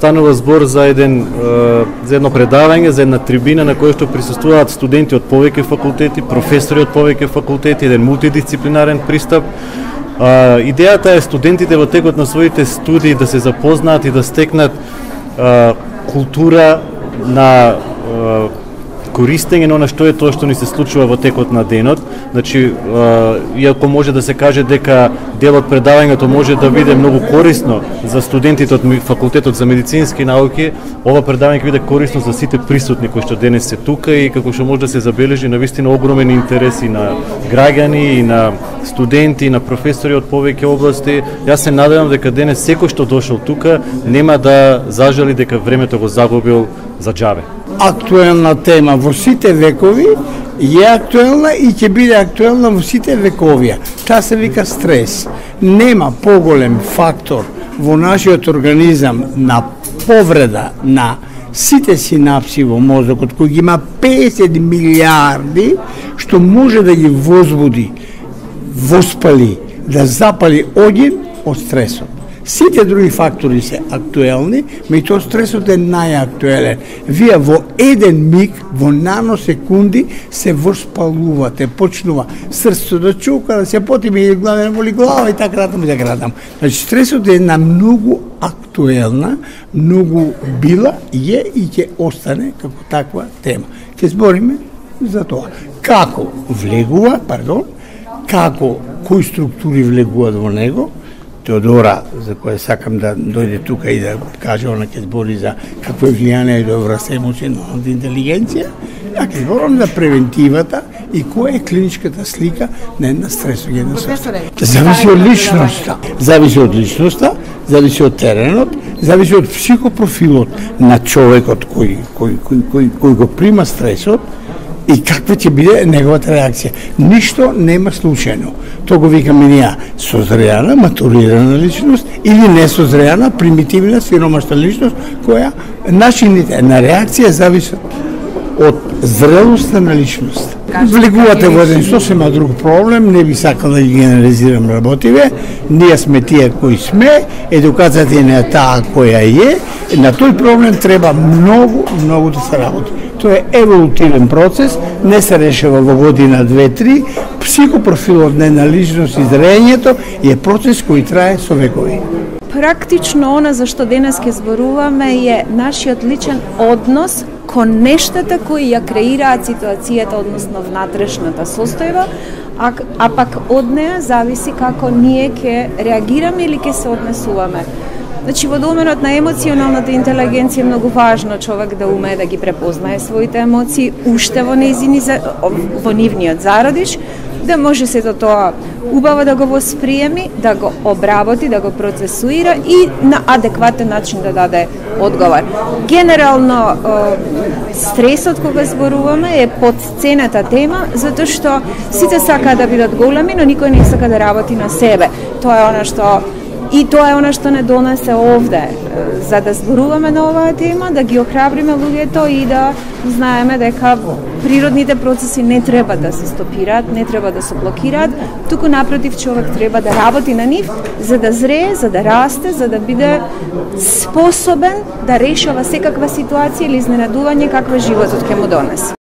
станува збор за едно предавање, за една трибина на која што присуствуваат студенти од повеќе факултети, професори од повеќе факултети, еден мултидисциплинарен пристап. Идејата е студентите во текот на своите студии да се запознаат и да стекнат култура на користење на она што е тоа што ни се случува во текот на денот. Значи, иако може да се каже дека дел од предавањето може да биде многу корисно за студентите од факултетот за медицински науки, ова предавање ќе биде корисно за сите присутни кои што денес се тука и како што може да се забележи навистина огромен интерес и на граѓани и на студенти и на професори од повеќе области. Јас се надевам дека денес секој што дошол тука нема да зажали дека времето го загубил за џабе. Актуелна тема во сите векови е актуелна и ќе биде актуелна во сите вековија. Таа се вика стрес. Нема поголем фактор во нашиот организам на повреда на сите синапси во мозокот, кој ги има 50 милиарди, што може да ги возбуди, воспали, да запали оѓен од стресот. Сите други фактори се актуелни, меѓутоа стресот е најактуелен. Вие во еден миг, во наносекунди се воспалувате, почнува срцето да чука, да се потиме и глава боли глава и така натаму. Значи стресот е една многу актуелна, многу била и ќе остане како таква тема. Ќе збориме за тоа. Како влегува, како кои структури влегуваат во него. Теодора, за која сакам да дојде тука и да каже, она ќе збори за какво е влијание и добра се емоционалната интелигенција, а ќе зборам за превентивата и која е клиничката слика на една стресогенна состојба. Зависи од личноста, зависи од теренот, зависи од психопрофилот на човекот кој го прима стресот и каква ќе биде неговата реакција. Ништо нема случајно. Тоа го викаме ние созреана, матурирана личност или несозреана, примитивна, сиромашна личност, која начините на реакција зависат од зрелоста на личност. Влегувате во еден сосема друг проблем, не би сакал да ги генерализирам работиве, ние сме тие кои сме, едукацијата не е таа која е, на тој проблем треба многу да се работи. Тоа е еволутивен процес, не се решава во година, 2-3, психопрофилот на личност и зрењето е процес кој трае со векови. Практично она за што денес ќе зборуваме е нашиот личен однос кон нештата кои ја креираат ситуацијата, односно внатрешната состојба, а пак од неа зависи како ние ќе реагираме или ќе се однесуваме. Значи, во доменот на емоционалната интелигенција е многу важно човек да умее да ги препознае своите емоции уште во нивниот зародиш, да може сето тоа убаво да го восприеми, да го обработи, да го процесуира и на адекватен начин да даде одговор. Генерално, стресот кога зборуваме е потцената тема, затоа што сите сакаат да бидат големи, но никој не сака да работи на себе. Тоа е она што не донесе овде, за да зборуваме на оваа тема, да ги охрабриме луѓето и да знаеме дека природните процеси не треба да се стопираат, не треба да се блокираат, туку напротив човек треба да работи на нив, за да зрее, за да расте, за да биде способен да решава секаква ситуација или изненадување каква животот ќе му донесе.